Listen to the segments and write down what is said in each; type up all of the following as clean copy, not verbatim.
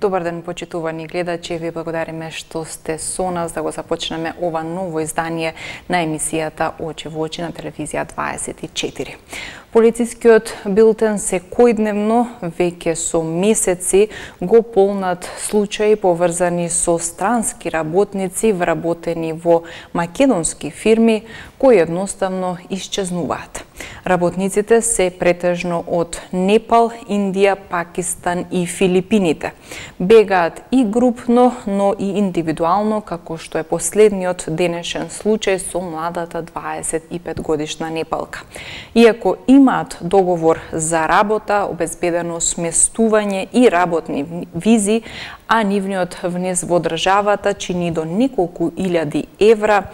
Добар ден, почитувани гледачи, ви благодариме што сте со нас да го започнеме ова ново издание на емисијата Очи во очи на телевизија 24. Полицискиот билтен секојдневно, веќе со месеци, го полнат случаи поврзани со странски работници вработени во македонски фирми кои едноставно исчезнуваат. Работниците се претежно од Непал, Индија, Пакистан и Филипините. Бегаат и групно, но и индивидуално, како што е последниот денешен случај со младата 25 годишна непалка. Иако имаат договор за работа, обезбедено сместување и работни визи, а нивниот внес во државата чини до неколку илјади евра,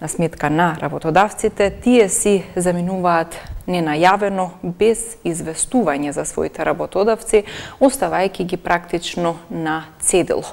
на сметка на работодавците, тие си заминуваат ненајавено, без известување за своите работодавци, оставајќи ги практично на цедило.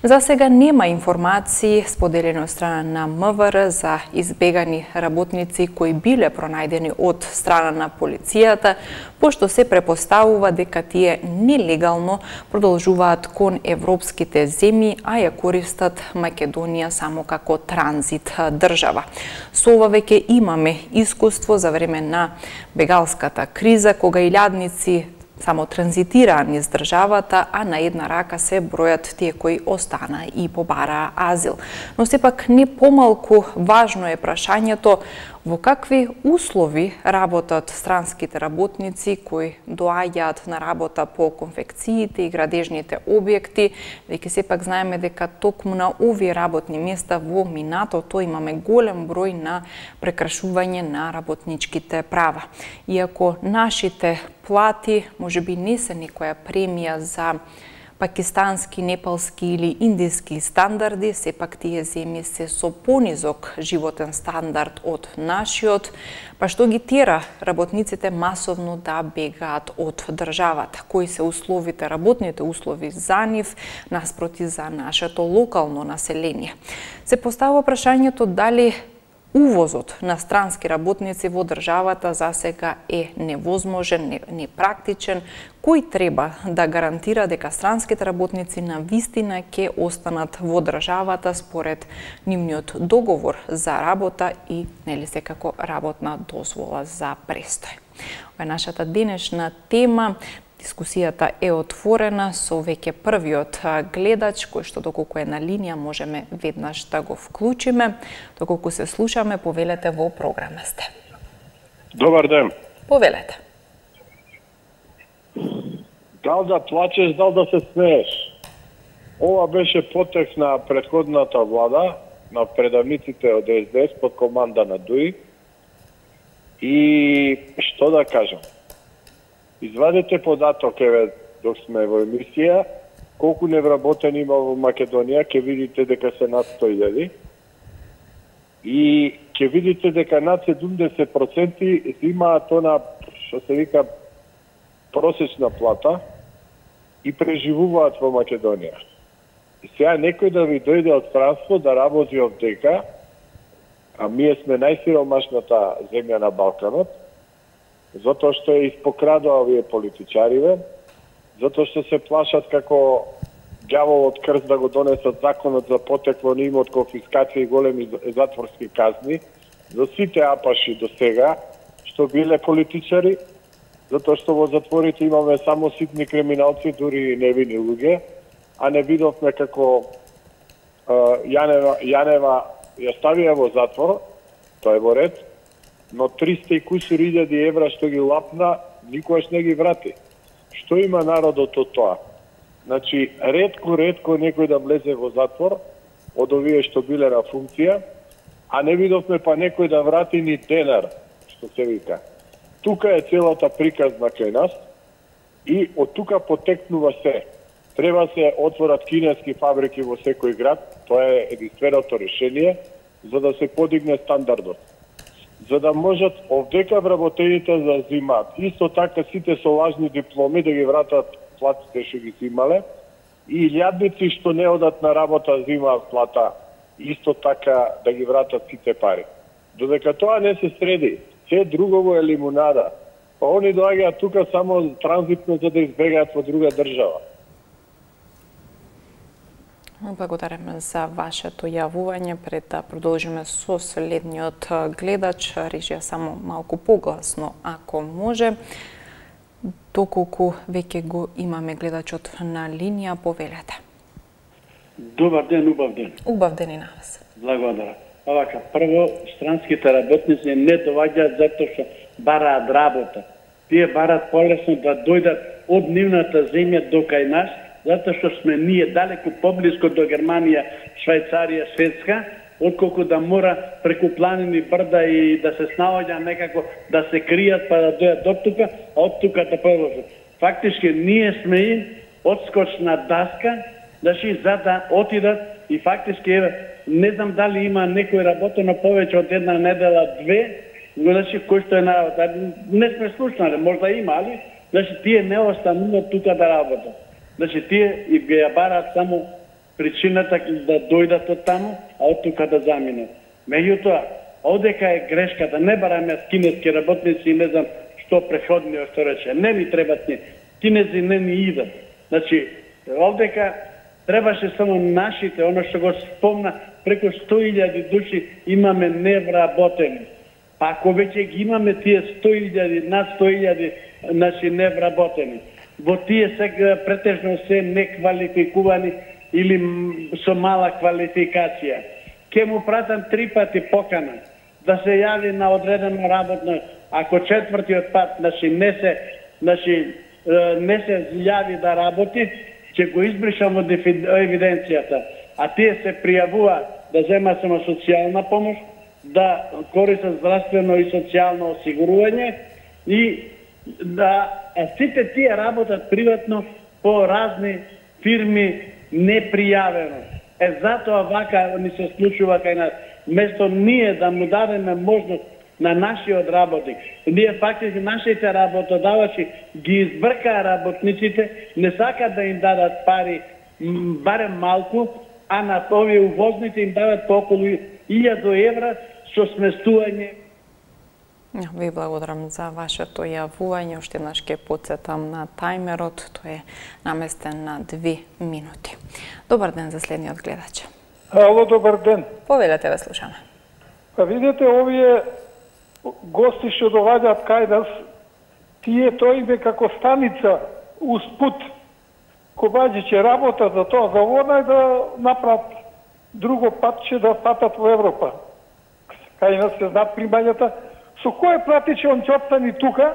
За сега нема информации споделени од страна на МВР за избегани работници кои биле пронајдени од страна на полицијата, пошто се препоставува дека тие нелегално продолжуваат кон европските земји, а ја користат Македонија само како транзит држава. Со ова веќе имаме искуство за време на бегалската криза, кога илјадници само транзитираа низ државата, а на една рака се бројат тие кои остана и побараа азил. Но сепак не помалку важно е прашањето во какви услови работат странските работници кои доаѓаат на работа по конфекциите и градежните објекти, веќе сепак знаеме дека токму на овие работни места во минатото имаме голем број на прекршување на работничките права. Иако нашите плати можеби не се некоја премија за пакистански, непалски или индиски стандарди, сепак тие земји се со понизок животен стандард од нашиот, па што ги тера работниците масовно да бегаат од државата. Кои се условите, работните услови за нив, наспроти за нашето локално население. Се поставува прашањето дали увозот на странски работници во државата за сега е невозможен, непрактичен, кој треба да гарантира дека странските работници на вистина ќе останат во државата според нивниот договор за работа и нели секако работна дозвола за престој. Ова е нашата денешна тема. Дискусијата е отворена со веќе првиот гледач, кој што доколку е на линија можеме веднаш да го вклучиме. Доколку се слушаме, повелете во програма сте. Добар ден. Повелете. Дал да плачеш, дал да се смееш. Ова беше потекст на претходната влада, на предавниците од СДС под команда на ДУИ. И што да кажам? Извадете податок, еве, док сме во емисија, колку невработени има во Македонија, ќе видите дека се над 100.000. И ќе видите дека над 70% имаат она, што се вика, просечна плата и преживуваат во Македонија. И сега некој да ви дојде од странство да работи овдека, а ние сме најсиромашната земја на Балканот, затоа што е испокрадува овие политичариве, затоа што се плашат како ѓаволот крст да го донесат законот за потекло на имот, конфискација и големи затворски казни за сите апаши до сега што биле политичари, затоа што во затворите имаме само ситни криминалци, дури и невини луѓе, а не видовме како Јанева ја ставија во затвор, тоа е во ред, но 300 и кусур илјади евра што ги лапна, никогаш не ги врати. Што има народот од тоа? Значи, ретко некој да влезе во затвор од овие што биле на функција, а не видовме па некој да врати ни денар, што се вика. Тука е целата приказна кај нас и од тука потекнува се. Треба се отворат кинески фабрики во секој град, тоа е единственото решение, за да се подигне стандардот. За да можат овдека вработените да зимаат. Исто така сите со лажни дипломи да ги вратат платите што ги зимале и илјадници што не одат на работа зимаат плата, исто така да ги вратат сите пари. Додека тоа не се среди, се другово е лимунада. Па они доаѓаат тука само транзитно за да избегаат во друга држава. Благодариме за вашето јавување. Пред да продолжиме со следниот гледач, режија само малку погласно, ако може. Доколку веќе го имаме гледачот на линија, повелете. Добар ден, убав ден. Убав ден и на вас. Благодарам. Овака, прво, странските работници не доаѓаат затоа што бараат работа. Тие бараат полесно да дојдат од нивната земја до кај нас, затоа што сме ние далеку поблиско до Германија, Швајцарија, Шведска, отколку да мора преку планини, брда и да се снаоѓа некако да се кријат па да дојдат до тука, а од тука да продолжат. Фактички ние сме им одскочна даска, за да отидат и фактички не знам дали има некој работено повеќе од една недела, две, но кој што е на работа. Не сме слушнали, можда има, али тие не остануваат тука да работат. Тие и ја бараат само причината да дојдат од таму, а од тука да заминат. Меѓутоа, одека е грешката, не бараме кинески работници и не знам што преходниот што рече. Не ни требат ни. Кинези не ни идат. Одека требаше само нашите, оно што го спомна, преку 100.000 души имаме невработени. Па ако веќе ги имаме тие 100.000, над 100.000 невработени, во тие сега претежно се неквалификувани или со мала квалификација, ќе му пратам 3 пати покана да се јави на одредено работно, ако четвртиот пат не се јави да работи, ќе го избришам од евиденцијата, а тие се пријавува да земат само социјална помош, да користат здравствено и социјално осигурување и да сите тие работат приватно по разни фирми непријавено. Затоа вака ни се случува кај нас. Место ние да му дадеме можност на нашиот работник, ние фактично нашите работодавачи ги избркаа работниците, не сакаат да им дадат пари, барем малку, а на овие увозните им дават по околу 1000 евра со сместување. Ви благодарам за вашето јавување. Уште еднаш ќе потсетам на тајмерот. Тој е наместен на 2 минути. Добар ден за следниот гледач. Ало, добар ден. Повелете, ве слушаме. Па видите, овие гости што доаѓаат кај нас, тие тој иде како станица успут. Кобаѓи ќе работат за тоа, за она и да направат друго патче да патат во Европа. Кај нас се знаат примањата. Со кој плати че он ќе остани тука,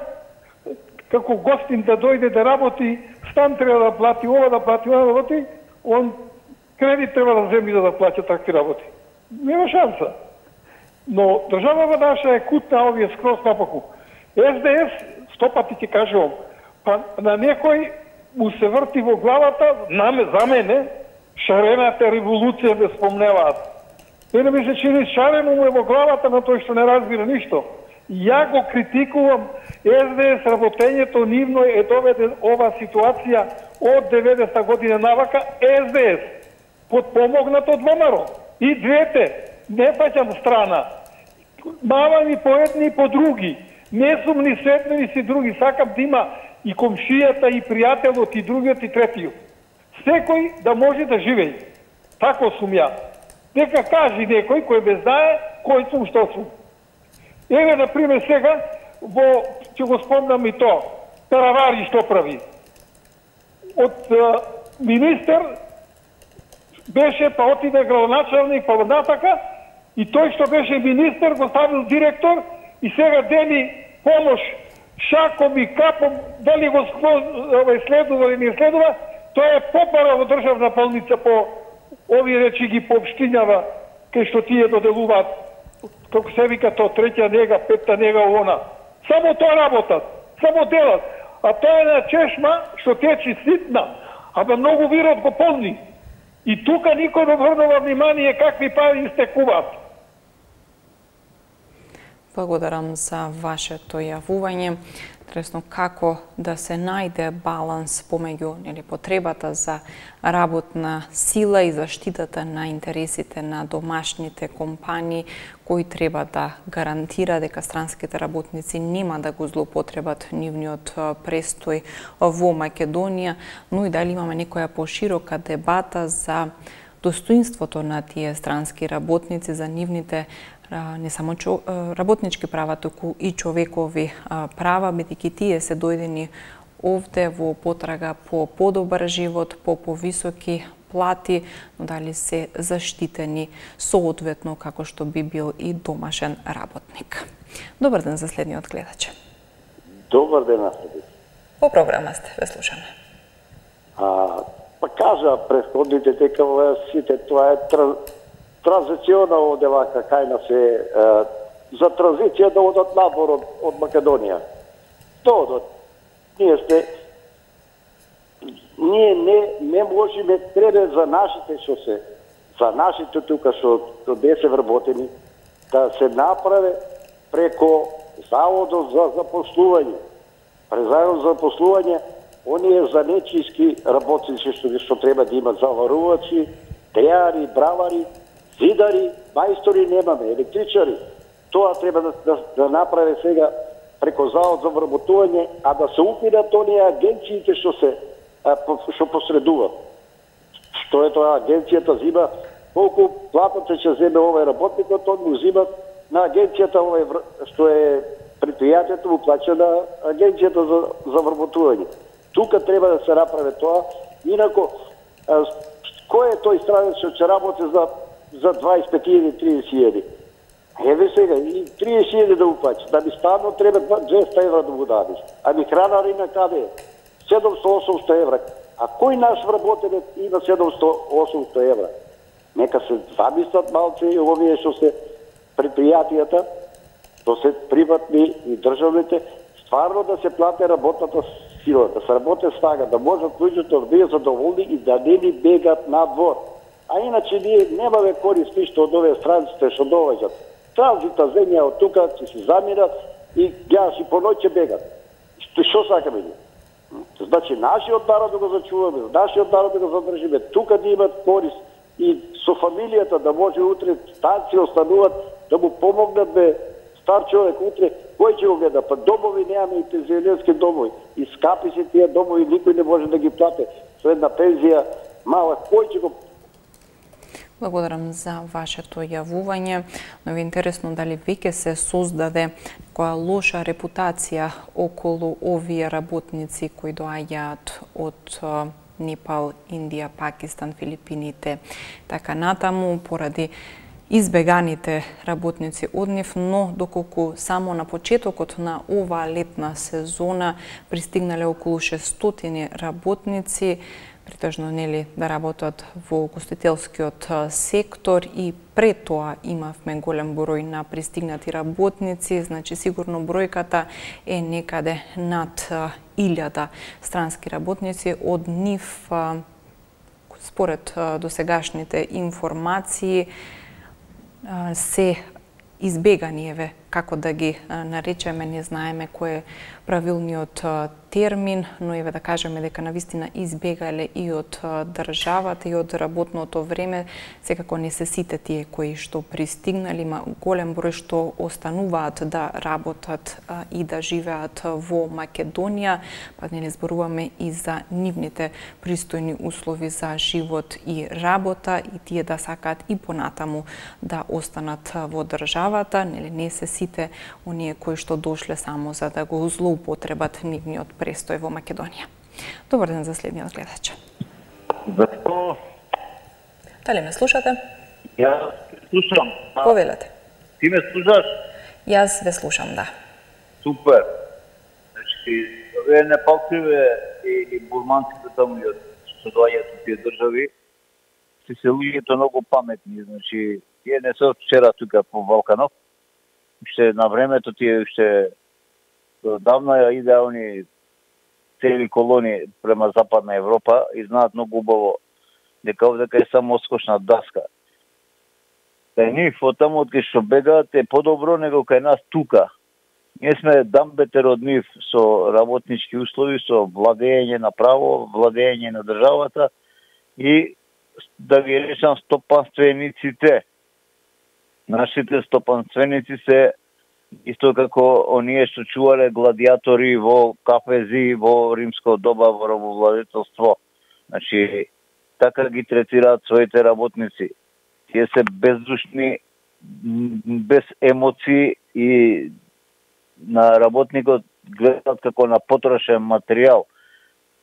како гостин да дојде да работи, стан треба да плати, ова да плати, ова да плати, он кредит треба да земи да плаќа такви работи. Нема шанса. Но државава наша е кутна овие скроз напаку. СДС, 100 пати ќе кажувам, па на некој му се врти во главата, за мене, шарената револуција да спомневаат. Мене ми се чини шарено му е во главата на тој што не разбира ништо. Ја го критикувам, СДС работењето нивно е доведе ова ситуација од 90-та година навака, СДС, подпомогнат од ВМРО. И двете, не фаќам страна. Мавани по едни и по други. Не сум ни с едни ни си други. Сакам да има и комшијата, и пријателот, и другиот, и третиот. Секој да може да живее. Тако сум ја. Нека кажи некој кој ме знае кој сум, што сум. Еве, например, сега, ќе го спомнам и то, Таравари што прави. Од министер беше, па отиде градоначалник, па натака, и тој што беше министер го ставил директор и сега дели помош шаком и капом, дали го следува или не следува, тоа е попара во државна болница по овие речи ги пообштинјава, кај што тие доделуваат, како се вика то, 3-та нега, 5-та нега, она. Само тоа работат, само делат. А тоа е на чешма што течи ситна, ама многу вирот го полни. И тука никој не обрнува внимание какви пари истекуваат. Благодарам за вашето јавување. Интересно како да се најде баланс помеѓу потребата за работна сила и заштитата на интересите на домашните компании кои треба да гарантира дека странските работници нема да го злоупотребат нивниот престој во Македонија, но и дали имаме некоја поширока дебата за достоинството на тие странски работници, за нивните не само работнички права, туку и човекови права, бидејќи тие се дојдени овде во потрага по подобар живот, по повисоки плати, но дали се заштитени соодветно како што би бил и домашен работник. Добар ден за следниот гледач. Добар ден, Асади. По програма сте, ве слушаме. Па кажа претходните дека сите тоа е транзициона овде вака кај нас е за транзиција да одат набор од Македонија. Да одат. Ние не можеме, треба за нашите тука што се вработени да се направи преко Заводот за запослување. През Заводот за запослување, оние занечиски работници што треба да имат заварувачи, теари, бравари, зидари, мајстори немаме, електричари. Тоа треба да направи сега преко Завод за вработување, а да се укинат оние агенциите што посредуваат. Што е тоа агенцијата зима, колку платата ќе земе овој работникот, он му зима на агенцијата што е предпријатието му плаќа на агенцијата за вработување. Тука треба да се направи тоа, инако кој е тој странец што ќе работи за 25.000-30.000? Еве сега, и 30.000 да уплаќа, да би станно треба 200 евра да му дадеш. Ами хранарина каде е? 700-800 евра. А кој наш вработенец има 700-800 евра? Нека се замислат малце и овие што се предпријатијата, што се приватни и државните, стварно да се плате работната сила, да се работи снага, да можат луѓето да бидат задоволни и да не ни бегат надвор. А иначе ние немаме корист ништо од овие странците што доаѓаат. Транзита земја од тука ќе се замират и ги по ноќ ќе бегат. Што сакаме ние? Значи, нашиот народ да го зачуваме, нашиот народ да го задржиме, тука да имат корист и со фамилијата да може утре станци остануват, да му помогнат стар човек утре, кој ќе го гледа? Па домови немаме и пензионерски домови. И скапи се тие домови, никој не може да ги плате. Со една пензија мала, кој ќе го... Благодарам за вашето јавување, но ви интересно дали веќе се создаде која лоша репутација околу овие работници кои доаѓаат од Непал, Индија, Пакистан, Филипините, така натаму, поради избеганите работници од нив, но доколку само на почетокот на оваа летна сезона пристигнале околу 600 работници, претежно нели да работат во гостителскиот сектор, и пред тоа имавме голем број на пристигнати работници, значи сигурно бројката е некаде над 1000 странски работници. Од нив, според досегашните информации, се избегани, еве, како да ги наречеме, не знаеме кој е правилниот термин, но еве да кажеме дека навистина избегале и од државата и од работното време. Секако не се сите тие кои што пристигнали, има голем број што остануваат да работат и да живеат во Македонија, па не зборуваме и за нивните пристојни услови за живот и работа, и тие да сакаат и понатаму да останат во државата, нели не се сите оние кои што дошле само за да го злоупотребат нивниот престој во Македонија. Добар ден за следниот гледач. Зато? Дали ме слушате? Јас слушам. Повелете. Ти ме слушаш? Јас ве слушам, да. Супер. Значи, овие непалциве и бурманците таму што доаѓаат од тие држави, се луѓето многу паметни. Значи, тие не се од вчера тука по Балканов. Уште на времето тие уште давна идеални цели колонии према Западна Европа и знаат многу убаво дека овдека е само скочна даска. Кај нив, од таму од кај што бегаат е подобро него кај нас тука. Ние сме дамбетер од нив со работнички услови, со владење на право, владење на државата и да ги речам стопанствениците. Нашите стопанственици се исто како оние што чувале гладиатори во кафези во римско доба во робовладетелство. Значи, така ги третираат своите работници. Тие се бездушни, без емоции и на работникот гледаат како на потрошен материјал,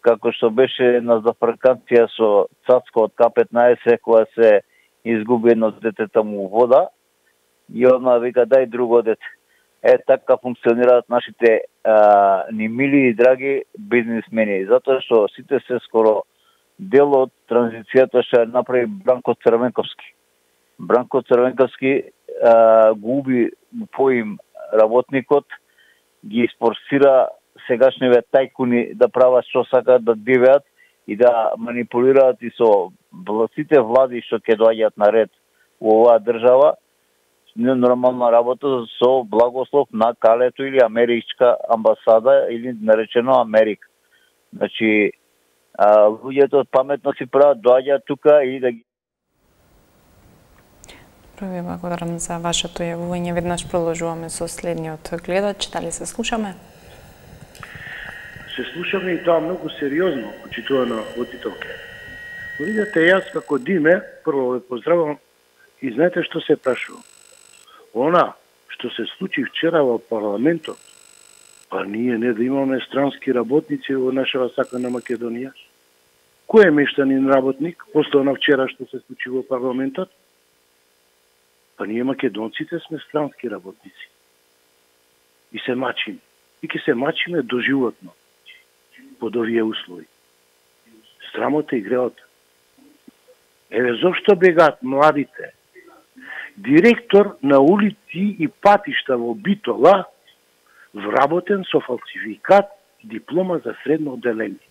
како што беше на зафрканција со Цацко од К-15 која се изгуби едно детето му вода и одма вика дај друго дете. Така функционираат нашите ни мили и драги бизнисмени, затоа што сите се скоро дел од транзицијата што направи Бранко Црвенковски. Бранко Црвенковски губи поим работникот, ги испорсира сегашниве тајкуни да прават што сакаат, да дивеат и да манипулираат и со сите влади што ќе доаѓаат на ред во оваа држава, ненормална работа со благослов на Калето или Америчка амбасада или наречено Америка. Значи, луѓето паметно си прават, доаѓаат тука и да ги... Први благодарам за вашето јавување. Веднаш продолжуваме со следниот гледач. Дали се слушаме? Се слушаме и тоа многу сериозно, почитувана аудиторка. Видите, јас како Диме, прво ве поздравам и знаете што се прашувам. Она што се случи вчера во парламентот, па ние не да имаме странски работници во нашава сакана Македонија. Кој е мештанин работник после на вчера што се случи во парламентот? Па ние македонците сме странски работници. И се мачиме. И ќе се мачиме доживотно под овие услови. Срамота и греота. Еве зошто бегаат младите? Директор на улици и патишта во Битола вработен со фалсификат диплома за средно одделение.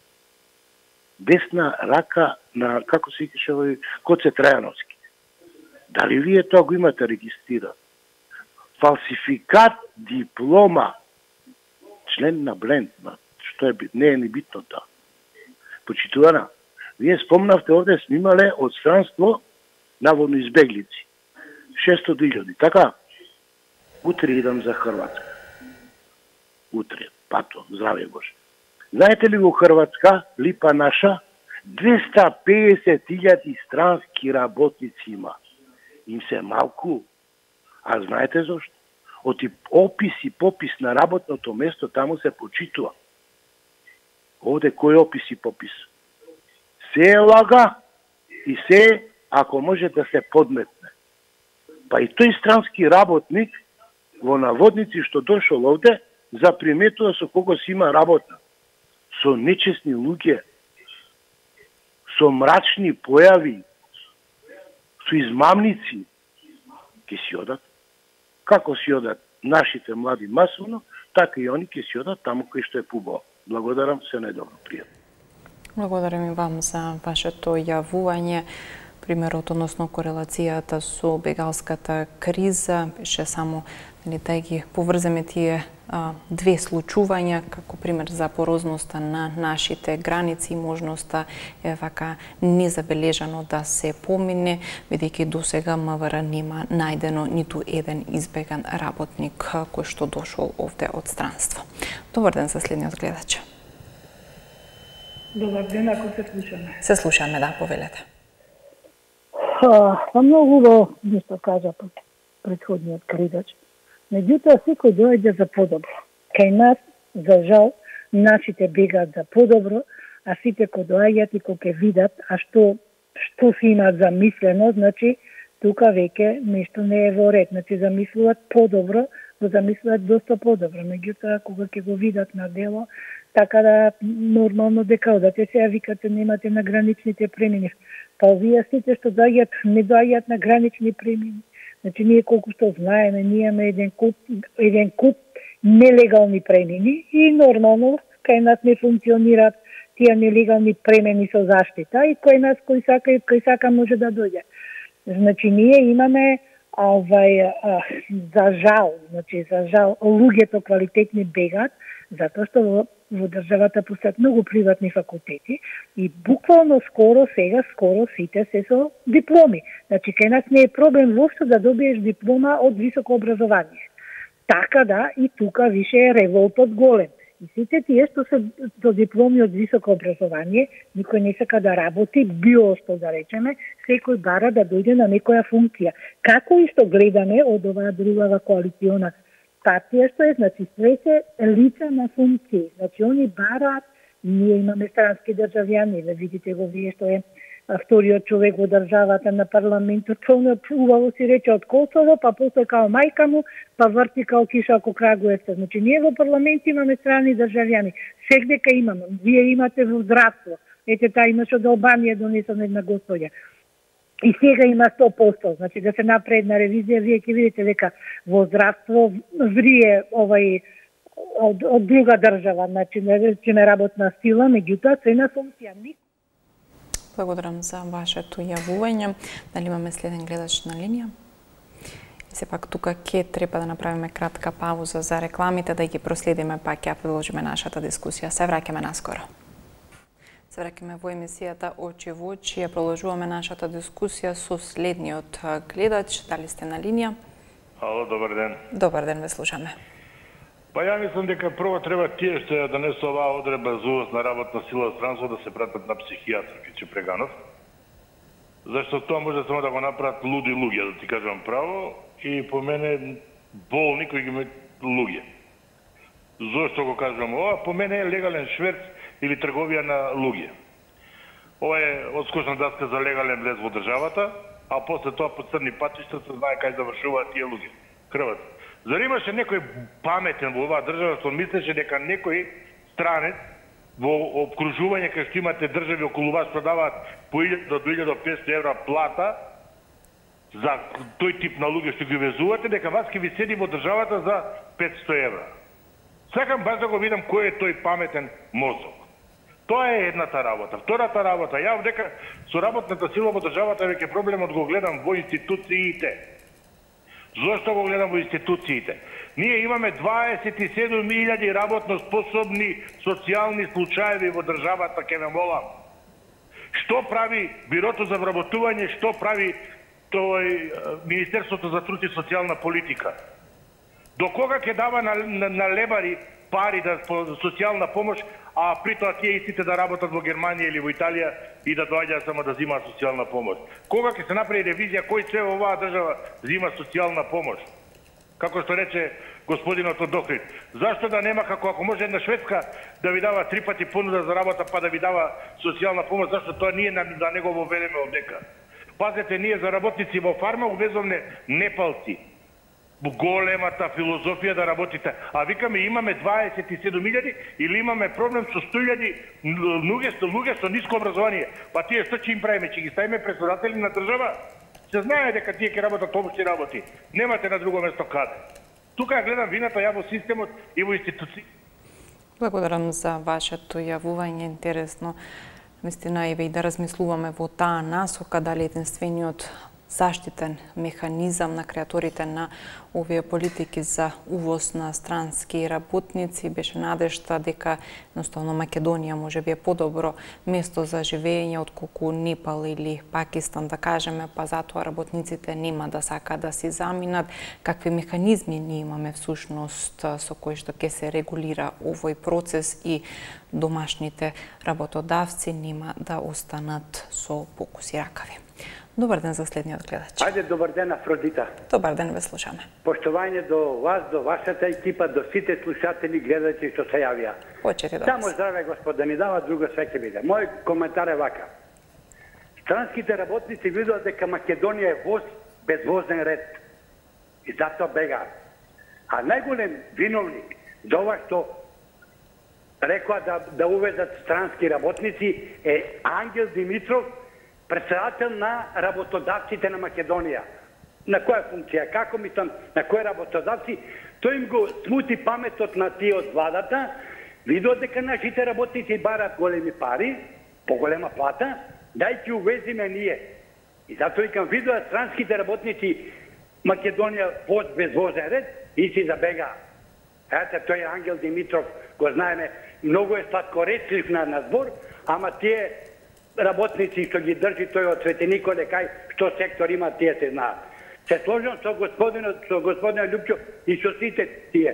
Десна рака на, како се викаше овој, Коце Трајановски. Дали вие тоа го имате регистрирано? Фалсификат диплома, член на Бленд, што е бит, не е ни битно тоа. Почитувана, вие спомнавте овде сме имале од странство наводно избеглици. 600.000, така? Утре идам за Хрватска. Утре, пато, здраве Боже. Знаете ли во Хрватска, липа наша, 250.000 странски работници има. Им се малку. А знаете зашто? Од опис и попис на работното место таму се почитува. Овде кој опис и попис? Се е лага и се, ако може да се подметне. Па и тој странски работник во наводници што дошол овде, заприметува со кого си има работа. Со нечесни луѓе, со мрачни појави, со измамници, ќе си одат. Како си одат нашите млади масовно, така и они ќе си одат таму кој што е пубаво. Благодарам, се најдобро, пријатно. Благодарам и вам за вашето јавување. Примерот, односно корелацијата со бегалската криза, беше само да ги поврземе тие две случувања, како пример за порозноста на нашите граници и можноста вака незабележано да се помине, бидејќи досега МВР нема најдено ниту еден избеган работник кој што дошол овде од странство. Добар ден за следниот гледач. Добар ден, ако се слушаме. Се слушаме, да, повелете. Па многу убаво нешто кажа претходниот гледач. Меѓутоа, секој доаѓа за подобро. Кај нас, за жал, нашите бегаат за подобро, а сите кои доаѓаат и кои ќе видат, а што си имаат замислено, значи, тука веќе нешто не е во ред. Значи, замислуваат подобро, го замислуваат доста подобро. Меѓутоа, кога ќе го видат на дело, така да нормално дека одате сега викате немате на граничните премини. Па овие сите што доаѓаат, не доаѓаат на гранични премини. Значи, ние колку што знаеме, ние имаме еден куп нелегални премини и нормално кај нас не функционираат тие нелегални премини со заштита и кој нас кој сака може да дојде. Значи, ние имаме за жал, луѓето квалитетни бегаат, затоа што во државата постојат многу приватни факултети и буквално скоро сите се со дипломи. Значи, кај нас не е проблем воопшто да добиеш диплома од високо образование. Така да, и тука више е револтот голем. И сите тие што се до дипломи од високо образование, никој не сака да работи, биошто да речеме, секој бара да дојде на некоја функција. Како исто гледаме од оваа другава коалициона партија, што е, значи, све се лица на функции. Значи, они бараат, ние имаме странски државјани, да видите го вие што е вториот човек во државата на парламентот, тоа убаво си рече од Косово, па после као мајка му, па врти као киша око Крагуевца. Значи, ние во парламент имаме страни државјани. Сегдека имаме. Вие имате во здравство. Ете, та имаш од Албанија донесена една господја. И сега има 100%. Значи, да се направи една ревизија, вие ќе видите дека во здравство врие од друга држава, значи, не работна сила, меѓутоа, се на функција. Благодарам за вашето јавување. Дали имаме следен гледач на линија? И сепак тука ќе треба да направиме кратка пауза за рекламите, да ги проследиме, па ќе продолжиме нашата дискусија. Се враќаме наскоро. Се враќаме во емисијата Очи во очи. Ја продолжуваме нашата дискусија со следниот гледач. Дали сте на линија? Ало, добар ден. Добар ден, ве слушаме. Па ја мислам дека прво треба тие што ја донесува оваа одредба за увоз на работна сила од странство да се пратат на психијатар, Киче Преганов. Зашто тоа може само да го направат луди луѓе, да ти кажам право, и по мене болни кои ги луѓе. Зошто го кажам ова? По мене е легален шверц или трговија на луѓе. Ова е одскочна даска за легален влез во државата, а после тоа по црни патишта се знае кај завршуваат тие луѓе. Крват. Зар имаше некој паметен во оваа држава што мислеше дека некој странец во обкружување кај што имате држави околу вас продаваат по 1000 до 2500 евра плата за тој тип на луѓе што ги везувате, дека вас ќе ви седи во државата за 500 евра. Сакам баш да го видам кој е тој паметен мозок. Тоа е едната работа. Втората работа, ја дека со работната сила во државата веќе проблемот го гледам во институциите. Зошто го гледам во институциите? Ние имаме 27.000 работно способни социјални случаеви во државата, ке ме молам. Што прави Бирото за вработување, што прави Министерството за труд и социјална политика? До кога ќе дава на лебари пари за социјална помош, а при тоа тие истите да работат во Германија или во Италија и да доаѓаат само да земаат социјална помош? Кога ќе се направи ревизија кој се во оваа држава зема социјална помош? Како што рече господинот од Охрид, зашто да нема, ако може една Шведска да ви дава 3 пати понуда за работа, па да ви дава социјална помош, зашто тоа ние да не го воведеме овдека? Пазете, ние за работници во фарма увезовме непалци. Големата филозофија да работите. А викаме имаме 27.000 или имаме проблем со 100.000 луѓе со ниско образование. Па тие што ќе им правиме? Ќе ги ставиме председатели на држава? Се знае дека тие ќе работат обшти работи. Немате на друго место каде. Тука ја гледам вината ја во системот и во институции. Благодарам за вашето јавување, интересно. Мислина и да размислуваме во таа насока дали единствениот заштитен механизам на креаторите на овие политики за увоз на странски работници беше надежта дека едноставно Македонија може би е подобро место за живење отколку Непал или Пакистан, да кажеме, па затоа работниците нема да сакаат да си заминат. Какви механизми ние имаме всушност со кои што ќе се регулира овој процес и домашните работодавци нема да останат со покуси ракави. Добар ден за следниот гледач. Ајде, добар ден, Афродита. Добар ден, ве слушаме. Поштовање до вас, до вашата екипа, до сите слушатели, гледачи што се јавија. Почети до Само вас. здраве, Господ, да ни дава, друго све ќе биде. Мој коментар е вака. Странските работници видоа дека Македонија е воз без возен ред. И затоа бегаат. А најголем виновник за ова што рекоа да увезат странски работници е Ангел Димитров, председател на работодавците на Македонија. На која функција? Како мислам, на кои работодавци? Тој им го смути паметот на тие од владата, видоа дека нашите работници барат големи пари, поголема плата, дај ќе увезиме ние. И затоа викам, видоа странските работници Македонија воз без возен ред и си забега. Ете, тој е Ангел Димитров, го знаеме, многу е сладкоречлив на збор, ама тие работници што ги држи тој од Свети Николе, кај што сектор има, тие се знаат. Се сложам со господинот Лјупчо и со сите тие.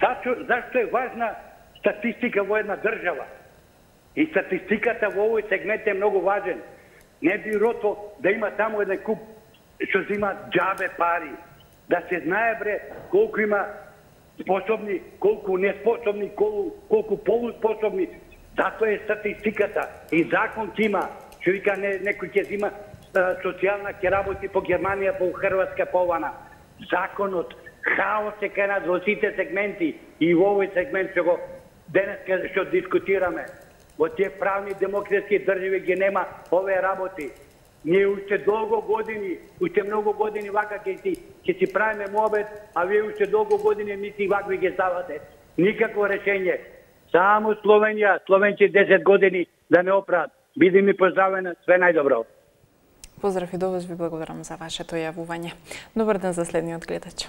Зашто е важна статистика во една држава. И статистиката во овој сегмент е многу важен. Не бирото да има таму еден куп што зима џабе пари. Да се знае бре колку има способни, колку неспособни, колку полуспособни. Затоа е статистиката. И закон има. Што вика некој ќе зима социјална ќе работи по Германија, по Хрватска, по ована. Законот, хаос е кај нас во сите сегменти и во овој сегмент што го денеска што дискутираме. Во тие правни демократски држави ги нема овие работи. Ние уште долго години, уште многу години вака ќе си правиме муабет, а вие уште долго години нити вакви ги ставате. Никакво решење. Само Словенија, словенци 10 години да не оправат. Биди ми поздравена, све најдобро. Поздрав и до вас, ви благодарам за вашето јавување. Добар ден за следниот гледач.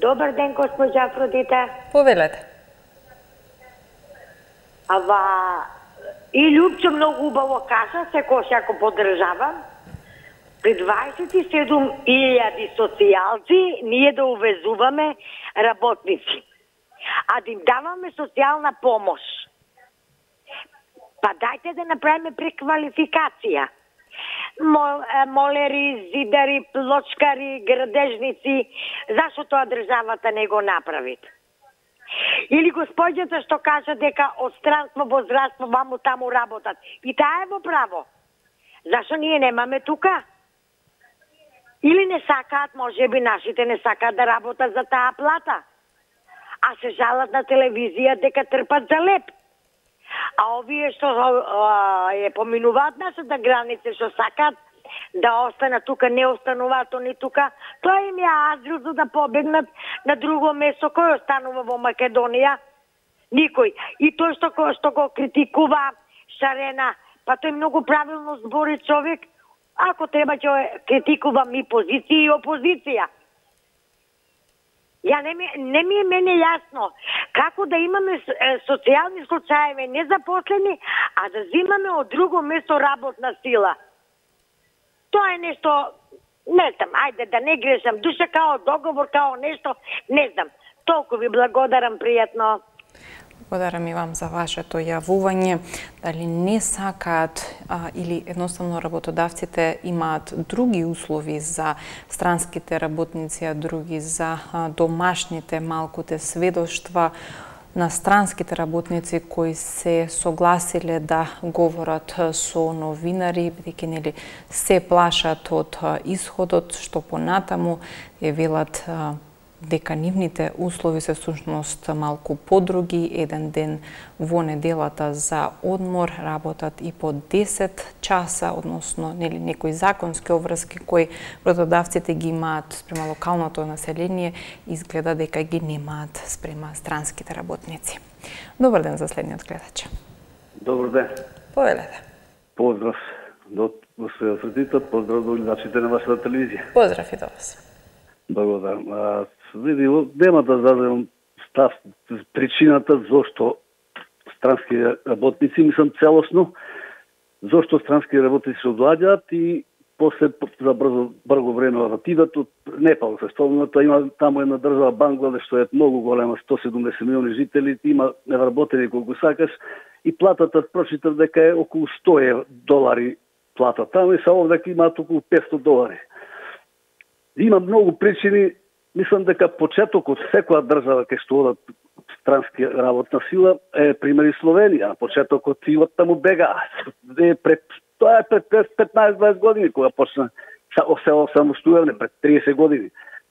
Добар ден, госпожа Афродита. Повелете. И Љупчо многу убаво кажа, секој го поддржавам. При 27.000 социјалци ние да увезуваме работници, а да им даваме социјална помош. Па дајте да направиме преквалификација. Молери, зидари, плочкари, градежници, зашто тоа државата не го направи? Или господјата што кажа дека од странство во здравство ваму таму работат. И таа е во право. Зашто ние немаме тука? Или не сакаат, може би нашите не сакаат да работат за таа плата. А се жалат на телевизија дека трпат за леп. А овие што ја поминуваат нашата граница, што сакаат да останат тука, не остануваат они тука, тоа им ја азил за да побегнат на друго место. Кој останува во Македонија? Никој. И тој што го критикува Шарена, па тој многу правилно збори човек. Ако треба ќе критикувам и позиција и опозиција. Не ми е мене јасно како да имаме социјални случаеви незапослени, а да зимаме од друго место работна сила. Тоа е нешто, не знам, ајде да не грешам, душа као договор, као нешто, не знам. Толку ви благодарам, пријатно. Благодарам и вам за вашето јавување. Дали не сакаат или едноставно работодавците имаат други услови за странските работници, а други за домашните малкуте сведоштва на странските работници кои се согласиле да говорат со новинари, бидејќи нели се плашат од исходот, што понатаму ја велат дека нивните услови се всушност малку подруги, еден ден во неделата за одмор, работат и по 10 часа, односно нели некои законски обврски кои работодавците ги имаат спрема локалното население, изгледа дека ги немаат спрема странските работници. Добар ден за следниот гледач. Добар ден. Повелете. Поздрав до госпожа Афродита, поздрав до гледачите на вашата телевизија. Поздрав и до вас. Благодарам. Види, нема да дадем став, причината зошто странски работници, мислам целосно, зошто странски работници се одладјат и после за брзо време отидат од Непал. Зашто има таму една држава Бангладеш, што е многу голема, 170 милиони жители, има невработени колку сакаш и платата прочитав дека е околу $100 плата. Таму и са овде имаат околу $500. Има многу причини. Мислам дека почетокот секоја држава кај што одат странски работна сила е пример и Словенија. Почетокот и од таму бега. Тоа е пред 15-20 години кога почна се самостојавне, пред 30 години.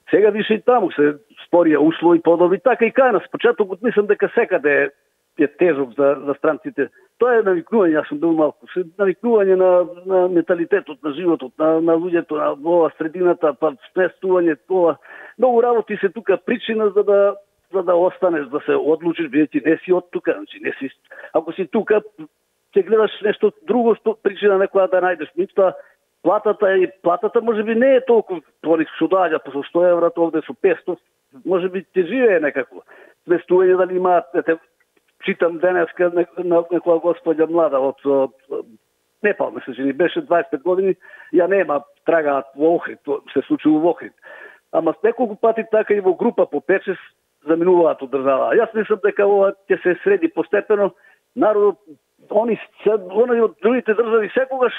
Сега више и таму се спорија услови подобри, така и кај нас. Почетокот мислам дека секаде е тежок за странците. Тоа е навикнување, јас сум бил малку, навикнување на менталитетот, на животот, на луѓето, на ова средината, па сместување, ова. Многу работи се тука причина за да останеш, да се одлучиш, бидејќи не си од тука, значи не си. Ако си тука, ќе гледаш нешто друго, причина некоја да најдеш. Меѓутоа платата можеби не е толку, што доаѓа по €100, овде со 500, можеби ќе живее некако. Сместување дали имаат, читам денеска некоја господја млада од Непал, мисля, че ни беше 25 години, ја нема, трагаат во Охрид, се случило во Охрид. Ама неколку пати така и во група по 5-6 заминуваат од држава. Јас мислам дека ова ќе се среди постепено. Народот, они од другите држави секогаш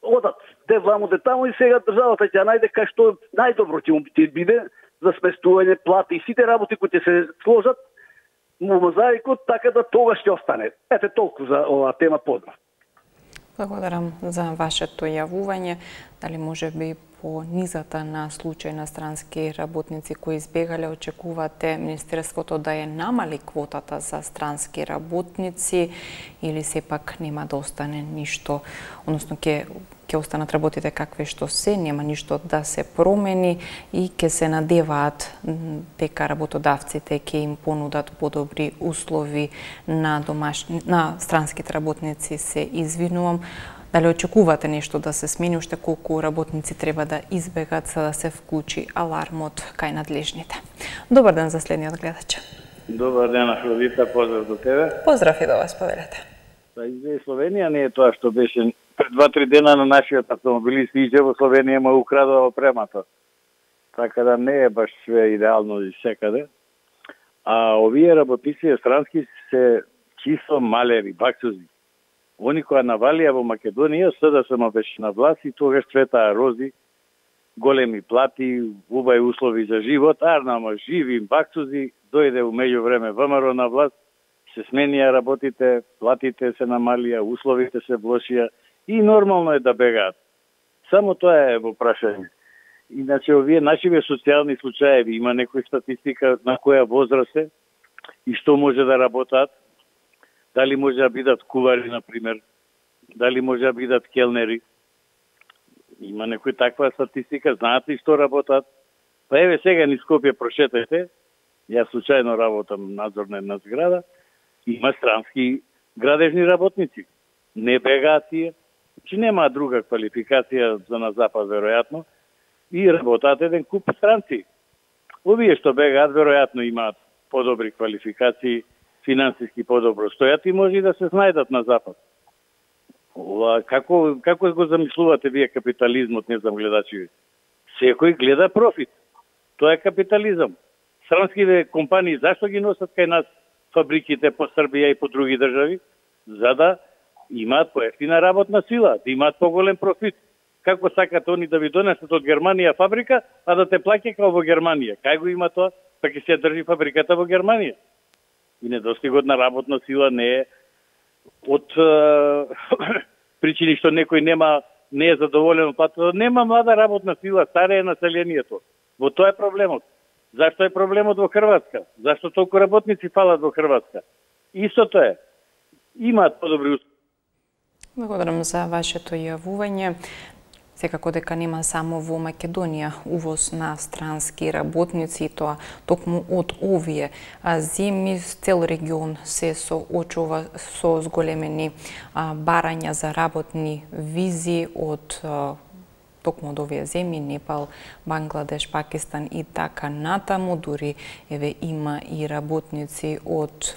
одат де ваму, де таму, и сега државата ќе најде кај што најдобро ќе биде за сместување, плати и сите работи кои ќе се сложат во мозаикот, така да тогаш ќе остане. Ете толку за оваа тема. Поздрав. Благодарам за вашето јавување. Дали може би по низата на случај на странски работници кои избегале, очекувате Министерството да ја намали квотата за странски работници или сепак нема да остане ништо, односно ќе останат работите какви што се, нема ништо да се промени и ќе се надеваат дека работодавците ќе им понудат подобри услови на странските работници, се извинувам. Дали очекувате нешто да се смени, уште колку работници треба да избегат за да се вклучи алармот кај надлежните? Добар ден за следниот гледач. Добар ден, Афродита, поздрав до тебе. Поздрав и до вас, повелете. За Словенија не е тоа што беше пред 2-3 дена на нашиот автомобилист иđe во Словенија му украдува опремата. Така да не е баш све идеално и секаде. А овие работници странски се чисто малери, баксузи. Они која навалија во Македонија, СДСМ беше на власт и тогаш цветаа рози, големи плати, убави услови за живот, арнама живи баксузи, дојде у меѓувреме ВМРО на власт, се сменија работите, платите се намалија, условите се влошија и нормално е да бегаат. Само тоа е во прашање. Иначе овие нашиве социјални случаеви, има некоја статистика на која возраст е и што може да работат. Дали може да бидат кувари, например, дали може да бидат келнери. Има некој таква статистика, знаат ли што работат? Па еве сега низ Скопје прошетајте, јас случајно работам надзор на една зграда, има странски градежни работници. Не бегаат тие, че нема друга квалификација за на запад, веројатно, и работат еден куп странци. Овие што бегаат, веројатно имаат подобри квалификации, финансиски подобро стојат и може да се снајдат на запад. Како го замислувате вие капитализмот, не знам гледачи? Секој гледа профит. Тоа е капитализам. Странските компании зашто ги носат кај нас фабриките по Србија и по други држави? За да имаат поевтина работна сила, да имаат поголем профит. Како сакат они да ви донесат од Германија фабрика, а да те плаќа како во Германија? Кај го има тоа? Па ќе се држи фабриката во Германија. И недостигот на работна сила не е од причини што некој не е задоволен од платата. Нема млада работна сила, старе е населението. Во тоа е проблемот. Зашто е проблемот во Хрватска? Зашто толку работници фалат во Хрватска? Истото е. Имаат подобри услови. Благодарам за вашето јавување. Секако дека нема само во Македонија увоз на странски работници, и тоа токму од овие земји, цел регион се соочува со зголемени барања за работни визи од токму од овие земји, Непал, Бангладеш, Пакистан и така натаму. Дури еве има и работници од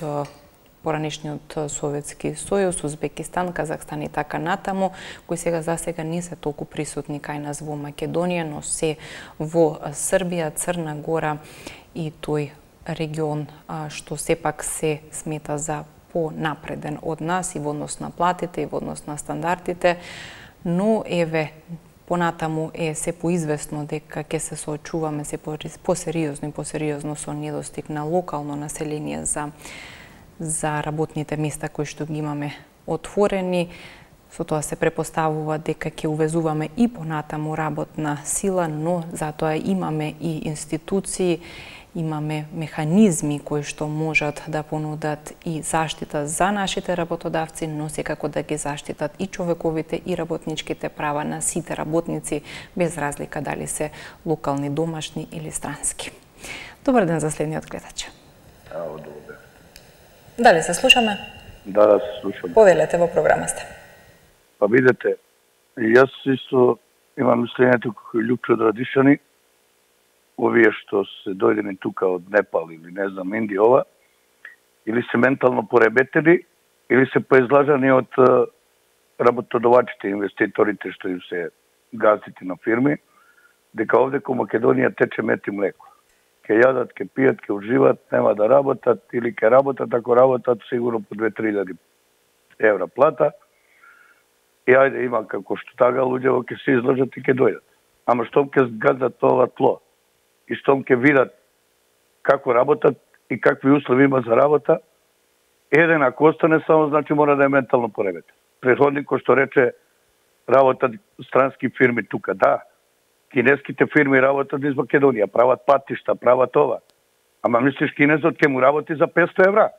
поранешниот Советски сојуз, Узбекистан, Казахстан и така натаму, кои сега не се толку присутни кај нас во Македонија, но се во Србија, Црна Гора и тој регион што сепак се смета за понапреден од нас и во однос на платите и во однос на стандардите, но еве понатаму е се поизвестно дека ќе се соочуваме се посериозно со недостиг на локално население за работните места кои што ги имаме отворени. Со тоа се препоставува дека ќе увезуваме и понатаму работна сила, но затоа имаме и институции, имаме механизми кои што можат да понудат и заштита за нашите работодавци, но секако да ги заштитат и човековите и работничките права на сите работници, без разлика дали се локални, домашни или странски. Добар ден за следниот гледач. Добар ден. Дали се слушаме? Да, се слушаме. Повелете, во програма сте. Па видете, јас исто имам мислењето како Лјупчо Радишани, овие што се дојдени тука од Непал или не знам Индија, или се ментално пореметени, или се поизлажани од работодавачите, инвеститорите што им се газите на фирми, дека овде ко Македонија тече мед и млеко. ке јадат, ке пијат, ке уживат, нема да работат или ке работат, ако работат сигурно по 2-3 евра плата. И ајде има како што тага луѓето ќе се излажат и ќе дојдат. Ама штом ќе згадат ова тло и штом ќе видат како работат и какви услови има за работа, еден ако остане само значи мора да е ментално пореметен. Предходник кој што рече работат странски фирми тука, да. Кинеските фирми работат из Македонија, прават патишта, прават ова. Ама мислиш кинезот ќе му работи за 500 евра?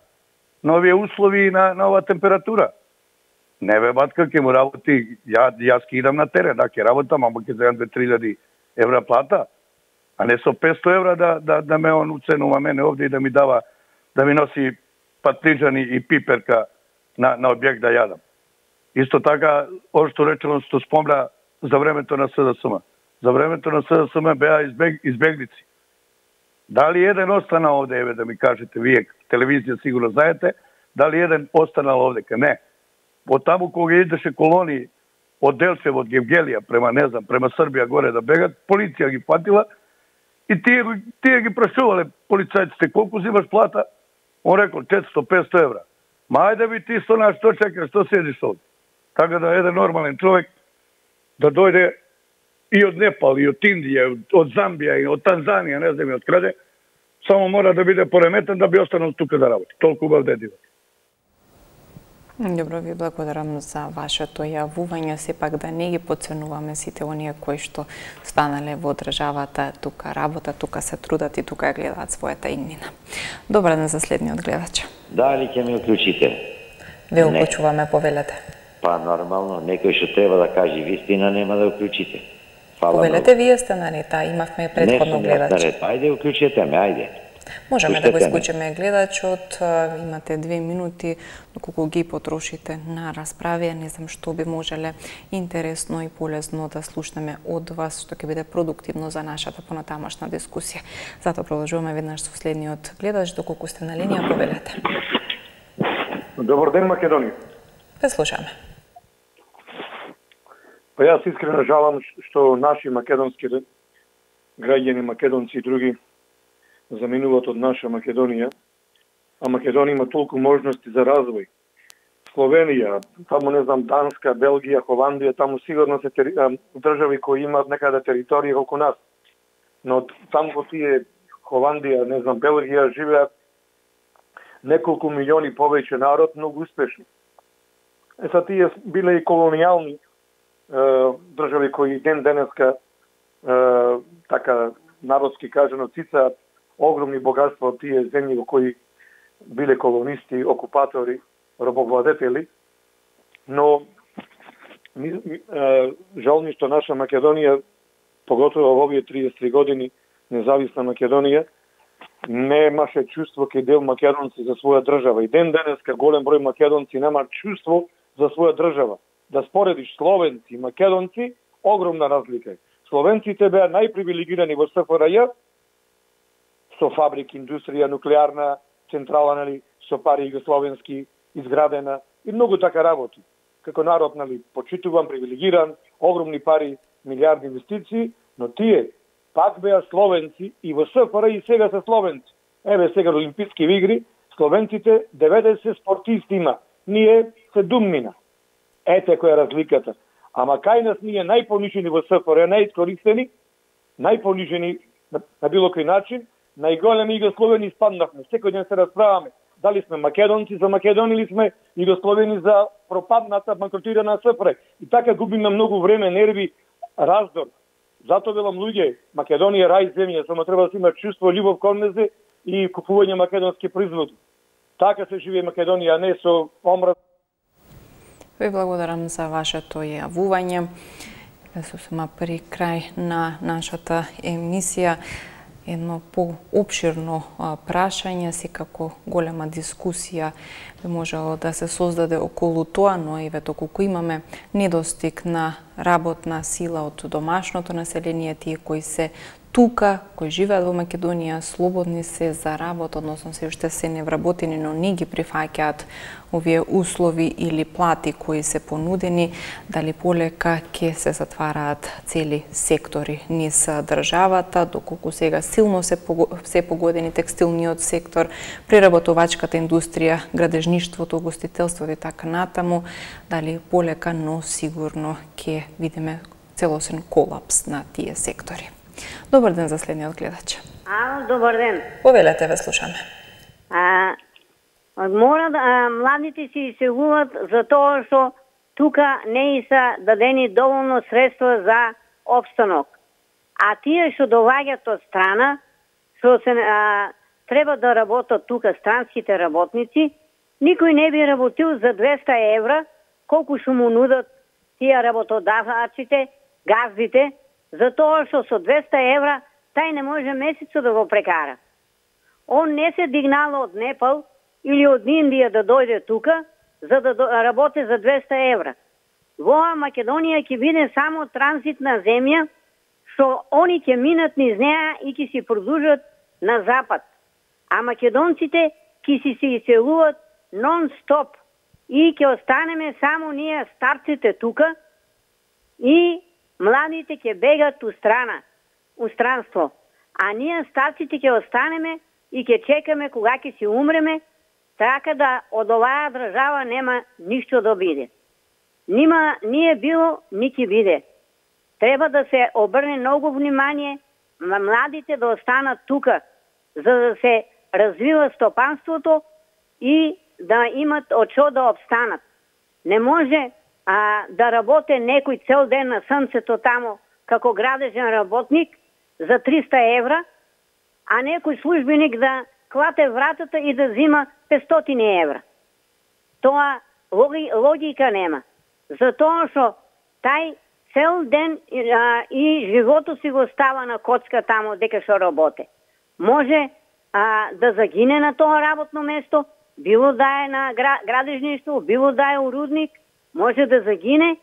На овие услови и на ова температура? Не бе, батка, ќе му работи, јас ќе идам на терен, да, ќе работам, ама ќе земам 2-3 евра плата, а не со 500 евра да ме он уценува мене овде и да ми дава, да ми носи патлиџани и пиперка на објект да јадам. Исто така, ово што речено, што спомна за времето на СДСМ. За времето на СДСМ беа избегници. Дали еден остана овде, еве да ми кажете, вие телевизија сигурно знаете, дали еден останал овде? Не. Од таму кога идеше колонии од Делчево, од Гевгелија, према Србија горе да бегат, полиција ги фатила и тие ги прашувале полицајците, колку зимаш плата? Он рекол 400-500 евра. Ма ајде би ти што чекаш, што седиш овде? Така да еден нормален човек да дојде и од Непал, и од Индија, од Замбија, и од Танзанија, не знам и од краде, само мора да биде пореметен да би останал тука да работи. Толку убав дедивот. Добро, ви благодарам за вашето јавување. Сепак да не ги подценуваме сите оние кои што станале во државата, тука работат, тука се трудат и тука гледаат својата иднина. Добар ден за следниот гледач. Дали ќе ме уклучите? Ве уклучуваме, повелете. Па нормално, некој што треба да каже вистина нема да уклучите. Повелете, вие сте на рета, имавме предходно гледач. Не сум на рета, ајде уклучете ме, ајде. Можеме да го исклучиме гледачот, имате 2 минути, доколку ги потрошите на расправија, не знам што би можеле интересно и полезно да слушнеме од вас, што ќе биде продуктивно за нашата понатамошна дискусија. Затоа продолжуваме веднаш со следниот гледач, доколку сте на линија, повелете. Добар ден, Македонија. Ве слушаме. Па јас искрено жалам што наши македонски граѓани, македонци и други заминуваат од наша Македонија, а Македонија има толку можности за развој. Словенија, таму не знам, Данска, Белгија, Холандија, таму сигурно се држави кои имаат некаде територија околу нас. Но таму во тие Холандија, не знам, Белгија живеат неколку милиони повеќе народ, многу успешни. Са тие биле и колонијални држави кои ден денеска така народски кажано цицаат огромни богатства од тие земји во кои биле колонисти, окупатори, робовладетели, но жал ми што наша Македонија, поготово во овие 33 години независна Македонија, не имаше чувство кај дел македонци за своја држава. И ден денеска голем број македонци нема чувство за своја држава. Да споредиш словенци и македонци, огромна разлика. Словенците беа најпривилегирани во СФРЈ, со фабрики, индустрија, нуклеарна, централа, нали, со пари југословенски изградена и многу така работи. Како народ, нали, почитуван, привилегиран, огромни пари, милиарди инвестиции, но тие пак беа словенци и во СФРЈ и сега се словенци. Еве сега Олимписки игри, словенците 90 спортисти има. Ние се думнина. Ете која е разликата. Ама кај нас ние најпонижени во СФРЈ, најискористени, најпонижени на било кој начин, најголеми југословени испаднавме. Секој ден се расправаме. Дали сме македонци за Македонија или сме југословени за пропадната, банкротирана СФРЈ. И така губиме многу време, нерви, раздор. Затоа велам луѓе, Македонија рај земја, само треба да се има чувство, љубов кон незе и купување македонски производи. Така се живее Македонија, а не со омраз. Ви благодарам за вашето јавување. Се сuma при крај на нашата емисија. Едно поопширно прашање, секако голема дискусија би можело да се создаде околу тоа, но и вето колку имаме недостиг на работна сила од домашното население, тие кои се тука, кои живеат во Македонија, слободни се за работа, односно се уште се невработени, но не ги прифаќаат овие услови или плати кои се понудени, дали полека ќе се затвараат цели сектори низ државата, доколку сега силно се погодени текстилниот сектор, преработувачката индустрија, градежништвото, гостителството и така натаму, дали полека, но сигурно ќе видиме целосен колапс на тие сектори. Добар ден за следниот гледач. Добар ден. Повелете, ве слушаме. Младите се иселуваат за тоа што тука не са дадени доволно средства за опстанок. А тие што доаѓаат од страна, што се треба да работат тука странските работници, никој не би работил за 200 евра, колку што му нудат тие работодавачите, газдите, за тоа што со 200 евра тај не може месецо да го прекара. Он не се дигнал од Непал или од Индија да дојде тука, за да работи за 200 евра. Во Македонија ќе биде само транзитна земја, што они ќе минат низ неа и ќе си продолжат на запад. А македонците ќе си се иселуваат нон-стоп и ќе останеме само ние старците тука и младите ќе бегат у странство, а ние старците ќе останеме и ќе чекаме кога ќе си умреме, така да од оваа држава нема ништо да биде. Nije било, ни ќе биде. Треба да се обрне многу внимание на младите да останат тука, за да се развива стопанството и да имат од што да обстанат. Не може да работи некој цел ден на сонцето тамо како градежен работник за 300 евра, а некој службеник да клате вратата и да зима 500 евра. Тоа логика нема. Затоа што тај цел ден и животот си го става на коцка тамо дека што работи. Може да загине на тоа работно место, било да е на градежништво, било да е у рудник, може да загине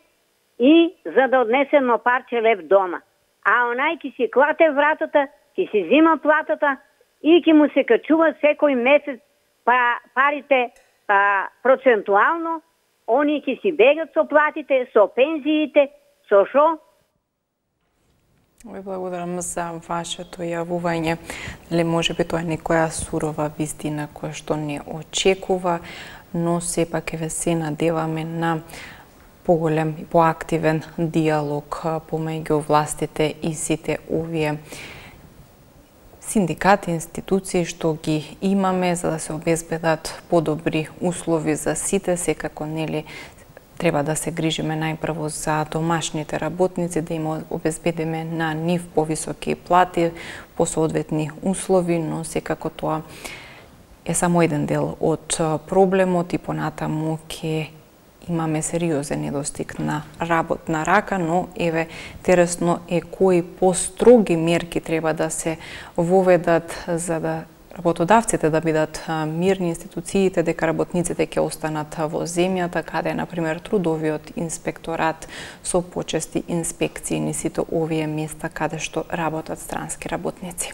и за да однесе едно парче леп дома. А онај ки си клате вратата, ки си зима платата и ки му се качува секој месец парите процентуално, они ки си бегат со платите, со пензиите, со шо? Ви благодарам за вашето јавување. Дали може би тоа е некоја сурова вистина која што не очекува, но сепак ве се надеваме на поголем и поактивен диалог помеѓу властите и сите овие синдикати, институции што ги имаме за да се обезбедат подобри услови за сите, секако нели треба да се грижиме најпрво за домашните работници, да им обезбедиме на нив повисоки плати, по соодветни услови, но секако тоа е само еден дел од проблемот и понатаму ќе имаме сериозен недостиг на работна рака, но еве интересно е кои построги мерки треба да се воведат за да работодавците да бидат мирни, институциите дека работниците ќе останат во земјата, каде е, например, трудовиот инспекторат со почести инспекции ни сите овие места каде што работат странски работници.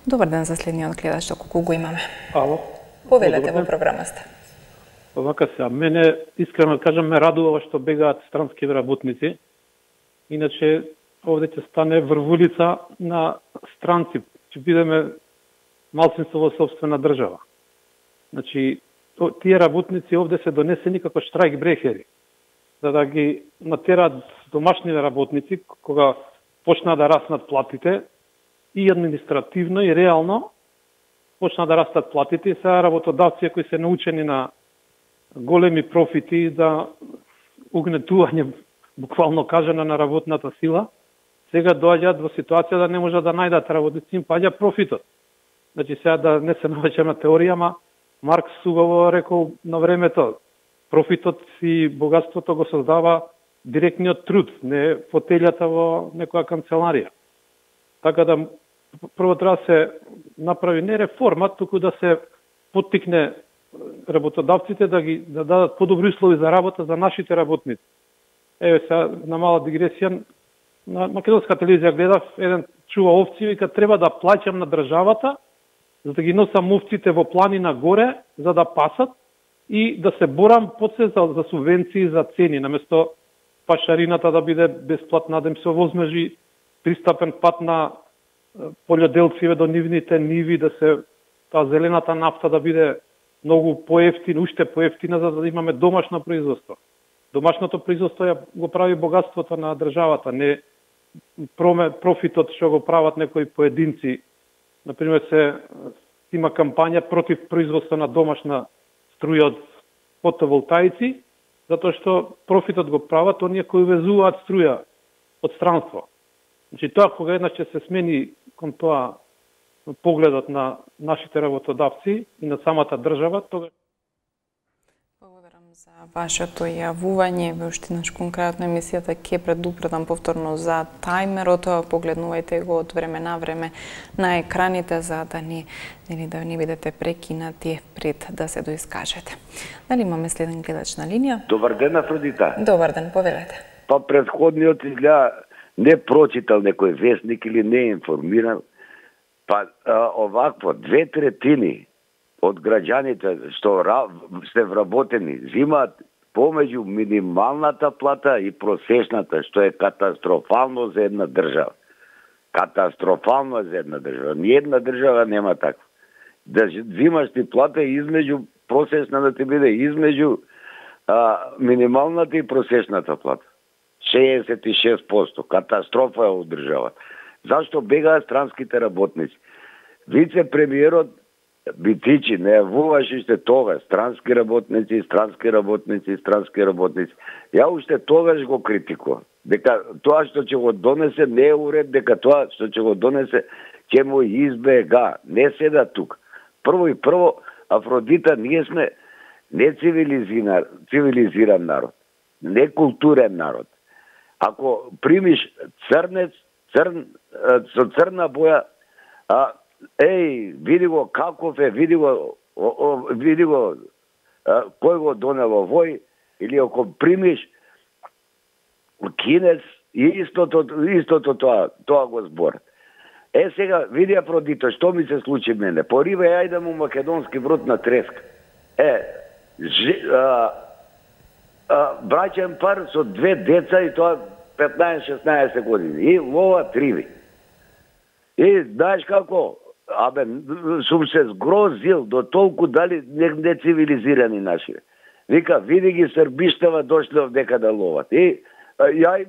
Добар ден за следниот гледач, колку го имаме. Ало. Повелете во програмата. Овака се, мене искрено кажам ме радува што бегаат странски работници. Иначе овде ќе стане врвулица на странци, ќе бидеме малцинство во собствена држава. Значи, тие работници овде се донесени како штрајк брехери, за да ги натерат домашните работници, кога почна да раснат платите, и административно и реално почна да растат платите, и сега работодавци кои се научени на големи профити да угнетување, буквално кажано, на работната сила, сега доаѓаат во ситуација да не можат да најдат работници, им паѓа профитот. Значи сега да не се навеќам на теорија, ама Маркс убаво рекол на времето, профитот и богатството го создава директниот труд, не фотелјата во некоја канцеларија. Така да прво треба да се направи не реформа, туку да се поттикне работодавците да дадат подобри услови за работа за нашите работници. Еве сега на мала дигресија, на македонска телевизија гледав, еден чува овци, вика треба да плаќам на државата за да ги носам овците во планина горе за да пасат и да се борам после за субвенции за цени, наместо пашарината да биде бесплатна, да им се овозможи пристапен пат на полјоделциве до нивните ниви, да се таа зелената нафта да биде многу поевтина, уште поевтина, за да имаме домашно производство. Домашното производство го прави богатството на државата, не профитот што го прават некои поединци. Например, се има кампања против производство на домашна струја од фотоволтаици, затоа што профитот го прават оние кои везуваат струја од странство. Значи тоа кога еднаш ќе се смени кон тоа погледот на нашите работодавци и на самата држава, тога за вашето јавување, ве уште наш конкретно емисијата ќе предупредам повторно за тајмерот, погледнувајте го од време на време на екраните за да не бидете прекинати пред да се доискажете. Дали имаме следен гледач на линија? Добар ден, Афродита. Добар ден, повелете. Па предходниот изгледа не прочитал некој вестник или не информиран. Па овакво 2/3 од граѓаните што се вработени земаат помеѓу минималната плата и просечната, што е катастрофално за една држава. Катастрофално за една држава. Ниједна држава нема такво. Да земаш ти плата измеѓу просечна да ти биде измеѓу минималната и просечната плата. 66%. Катастрофа е од државата. Зашто бегаат странските работници? Вице-премиерот Битичи не јавуваше уште тогаш странски работници. Ја уште тогаш го критикувам. Дека тоа што ќе го донесе не е уред, дека тоа што ќе го донесе ќе му избега. Не седа тук. Прво, Афродита, ние сме не цивилизиран народ, не културен народ. Ако примиш црнец, со црна боја, види го каков е, види го кој го донело вој, или ако примиш кинец, истото тоа го збор. Сега, види Афродито, што ми се случи мене? Порива ја идам у македонски брод на треска. Браќен пар со 2 деца и тоа 15-16 години. И лова триви. И знаеш како? Сум се сгрозил до толку дали не цивилизирани наши. Вика, види ги србиштава дошле овдека да ловат. И ја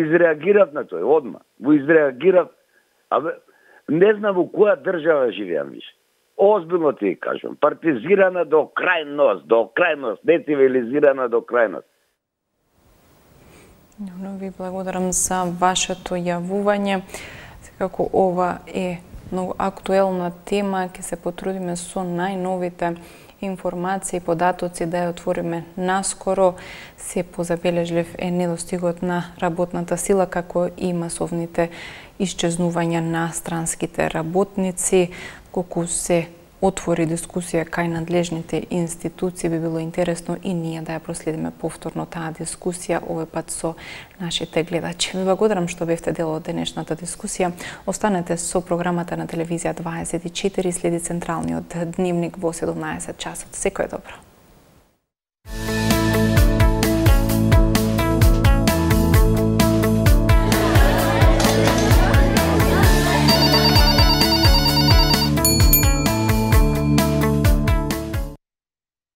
изреагирав на тој, одма. Му изреагирав. Не знам у која држава живеам више. Озбилно ти кажам. Партизирана до крајност, не цивилизирана до крајност. Ви благодарам за вашето јавување. Секако ова е многу актуелна тема, ќе се потрудиме со најновите информации и податоци да ја отвориме наскоро. Се позабележлив е недостигот на работната сила, како и масовните исчезнувања на странските работници. Колку се отвори дискусија кај надлежните институции, би било интересно и ние да ја проследиме повторно таа дискусија, овој пат со нашите гледачи. Ви благодарам што бевте дел од денешната дискусија. Останете со програмата на телевизија 24, следи централниот дневник во 17 часот. Секој добро.